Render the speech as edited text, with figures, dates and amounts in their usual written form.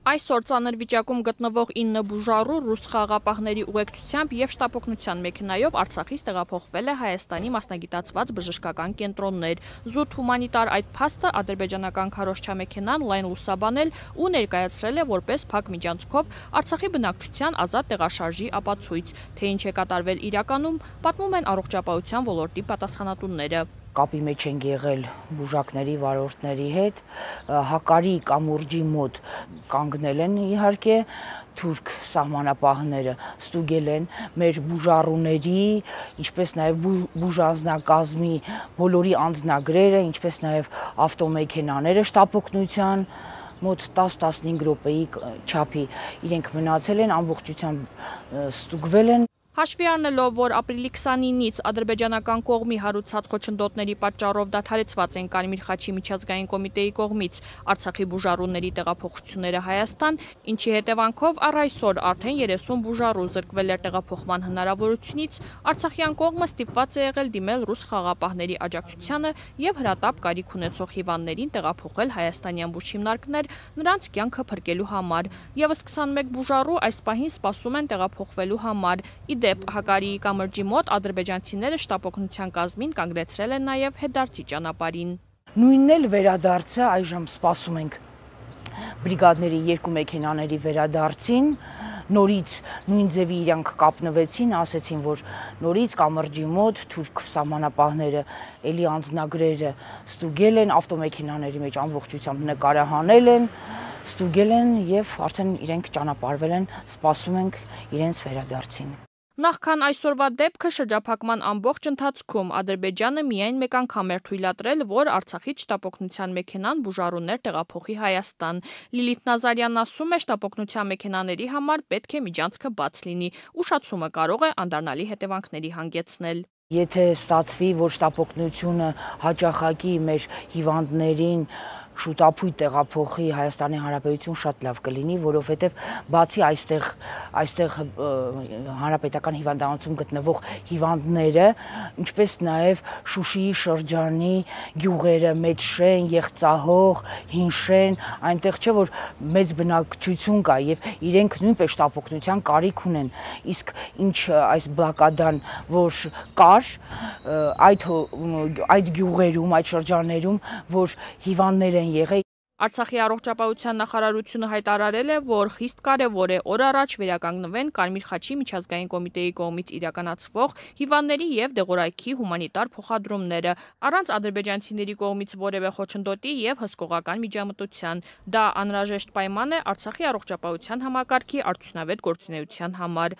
Այսօր ծանր վիճակում գտնվող 9 բուժառու ռուս խաղաղապահների ուղեկցությամբ և շտապօգնության մեքենայով Արցախից տեղափոխվել է Հայաստանի մասնագիտացված բժշկական կենտրոններ։ Զուտ հումանիտար այդ փաստը ադրբեջանական քարոզչամեքենան լայն լուսաբանել ու ներկայացրել է որպես փակ միջանցքով Արցախի բնակչության ազատ տեղաշարժի ապացույց, թե ինչ է կատարվել իրականում, պատմում են առողջապահության ոլորտի պատասխանատուները։ Կապի մեջ ենք եղել բուժակների վարորդների հետ, Հակարի կամուրջի մոտ կանգնել են իհարկե թուրք սահմանապահները, ստուգել են մեր բուժառուների, ինչպես նաև բուժանձնակազմի բոլորի անձնագրերը, ինչպես նաև ավտոմեքենաները շտապօգնության մոտ 10-15 րոպեի չափի իրենք մնացել են, ամբողջությամբ ստուգվել են։ Հաշվի առնելով, որ ապրիլի 29-ից ադրբեջանական կողմի հարուցած խոչընդոտների պատճառով դադարեցված են Կարմիր խաչի միջազգային կոմիտեի կողմից Արցախի բուժառուների տեղափոխությունները Հայաստան, ինչի հետևանքով առ այսօր արդեն 30 բուժառու զրկվել էր տեղափոխման հնարավորությունից, արցախյան կողմը ստիպված է եղել դիմել ռուս խաղաղապահների աջակցությանը և հրատապ կարիք ունեցող հիվանդներին տեղափոխել հայաստանյան բուժհիմնարկներ նրանց կյանքը փրկելու համար։ Եվս 21 բուժառու այս պահին սպասում են տեղափոխվելու համար։ Դեպ Հակարիի կամրջի մոտ ադրբեջանցիները շտապօգնության կազմին կանգնեցրել են նաև հետդարձի ճանապարհին։ Նույնն էլ վերադարձը այժմ սպասում ենք բրիգադների 2 մեքենաների վերադարձին, նորից նույն ձևի իրանք կապնվեցին, ասեցին, որ նորից կամրջի մոտ թուրք սահմանապահները էլի անձնագրերը ստուգել են, ավտոմեքենաների մեջ ամբողջությամբ նկարահանել են, ստուգել են և արդեն իրենք ճանապարհվել են, սպասում ենք իրենց վերադարձին։ Նախքան այսօրվա դեպքը շրջափակման ամբողջ ընթացքում Ադրբեջանը միայն մեկ անգամ էր թույլատրել, որ Արցախից շտապօգնության մեքենան բուժառուներ տեղափոխի Հայաստան։ Լիլիթ Նազարյանն ասում է, շտապօգնության մեքենաների համար պետք է միջանցքը բաց լինի, ուշացումը կարող է անդառնալի հետևանքների հանգեցնել։ Եթե ստացվի, որ շտապօգնությունը հաճախակի մեր հիվանդներին շուտապույտ տեղափոխի Հայաստանի Հանրապետություն, շատ լավ կլինի, որովհետև բացի այստեղ հանրապետական հիվանդանոցում գտնվող հիվանդները, ինչպես նաև Շուշիի շրջանի գյուղերը, Մեծշեն, Եղցահող, Հինշեն, այնտեղ չէ որ մեծ բնակչություն կա եւ իրենք նույնպես շտապօգնության կարիք ունեն։ Իսկ ինչ այս բլոկադան, որ կար այդ գյուղերում, այդ շրջաններում, որ հիվանդներ են եղել։ Արցախի առողջապահության նախարարությունը հայտարարել է, որ խիստ կարևոր է օր առաջ վերականգնվեն Կարմիր խաչի միջազգային կոմիտեի կողմից իրականացվող հիվանդների և դեղորայքի հումանիտար փոխադրումները, առանց ադրբեջանցիների կողմից որևէ խոչընդոտի և հսկողական միջամտության։ Դա անհրաժեշտ պայման է Արցախի առողջապահության համակարգի արդյունավետ գործունեության համար։